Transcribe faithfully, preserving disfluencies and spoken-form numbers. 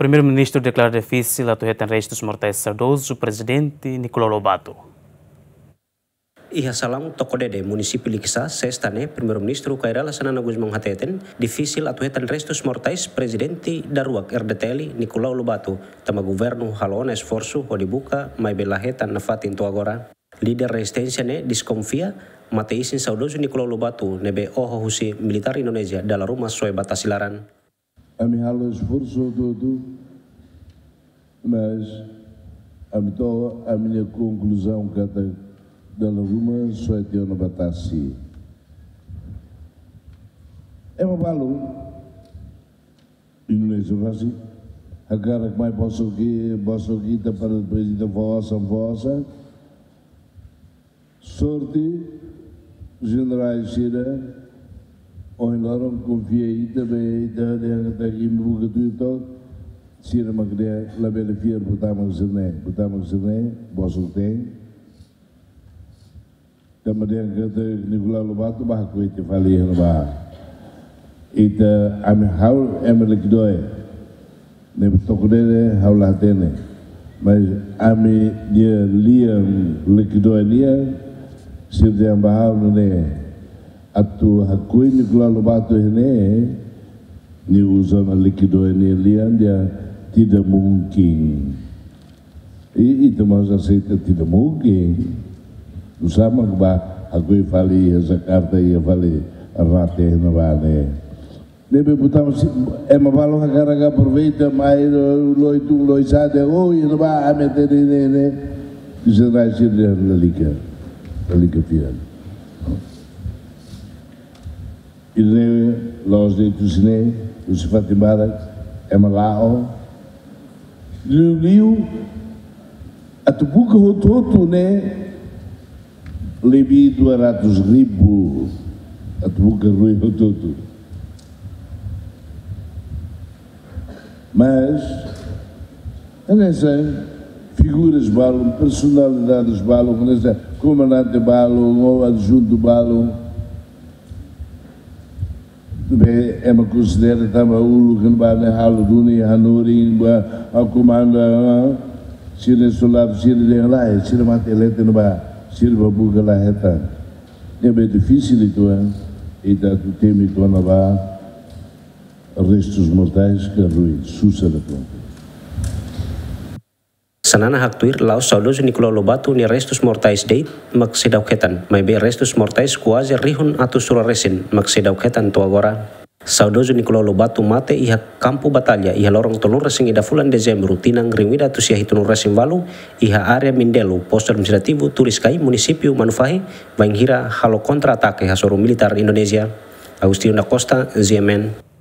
Primeiru-Ministru deklara difisil atu hetan restus mortais saudozu Prezidente Nicolau Lobato. Iha Salaun, Tokodede, Munisípiu Likisá, Sesta ne'e, Primeiru-Ministru Kay Rala Xanana Gusmão hateten, difisil atu hetan restus mortais Prezidente daruak R D T L, Nicolau Lobato, tanba governu halo ona esforsu hodi buka, maibé la hetan nafatin to'o agora. Líder rezisténsia ne'e deskonfia mate-isin saudozu Nicolau Lobato ne'ebé oho husi militár Indonézia dala ruma soe ba tasi laran. Ami halo esforsu hotu-hotu, mas ami to'o ami-nia konkluzaun katak dala ruma soe tiha ona ba tasi. Ema balu, Indonézia rasik, hakarak mai bosok i-, bosok ita para prezidente fó osan, fó osan. Sorte, jenerál sira, ohin loron konfia ita, be ita dehan katak imi buka tuir to'ok, sira mak dehan labele fiar buat mak sira-ne'e, buat mak sira-ne'e, bosok-teen. Tanba dehan katak Nicolau Lobato bá hakoi tiha fali iha ne'ebá. Ita, ami, ha'u ema Lekidoe. Ne'ebé Tokodede ha'u la hatene. Mas ami-nia lian Lekidoe nian, sira dehan ba ha'u nune'e. Atu hakoi Nicolau Lobato iha ne'e, nia uza ona Lekidoe nia lian dehan tidak mungkin. I, ita mós aseita tidak mungkin. Nusá mak bá hakoi fali iha Jakarta, iha fali rate iha ne'ebá ne'e. Ne'ebé buat mak sira, ema balu hakarak aproveita mai loi tun loi sa'e dehan, oh, iha ne'ebá ami hatene ne'e, ne'e. Bisa rai sira dehan lalika, lalika fiar. Ida-ne'e la'ós de'it husi ne'e, husi fatin barak, ema la'o. Liuliu, atu buka hotu-hotu ne'e, lebih dua ratus ribu, atu buka rui hotu-hotu. Mas, hanesan figuras balun, personalidades balun, hanesan komandante balun, ou adjuntu balun, be ema konsidera tanba uluk ne'ebá ne'e halo duni hanorin ba, a komanda, sira soldadu sira dehan lae, sira mate leten ba, sira bá buka la hetan. Ne'ebé difisil uitoan, ita atu temi kona-ba restus mortais ka rui, susar atu. Xanana haktuir la'ós saudozu Nicolau Lobato nia restus mortais de'it mak seidauk hetan, maibé restus mortais kuaze rihun atus rua resin mak seidauk hetan to'o agora. Saudozu Nicolau Lobato mate iha kampu batalla iha loron tolunulu resin ida fulan Dezembru tinan rihun ida atus sia hitunulu resin ualu iha área Mindelo, postu administrativu Turiskai, munisípiu Manufahi, bainhira halo kontra-atake hasoru militár Indonézia. Agostinho da Costa, G M N.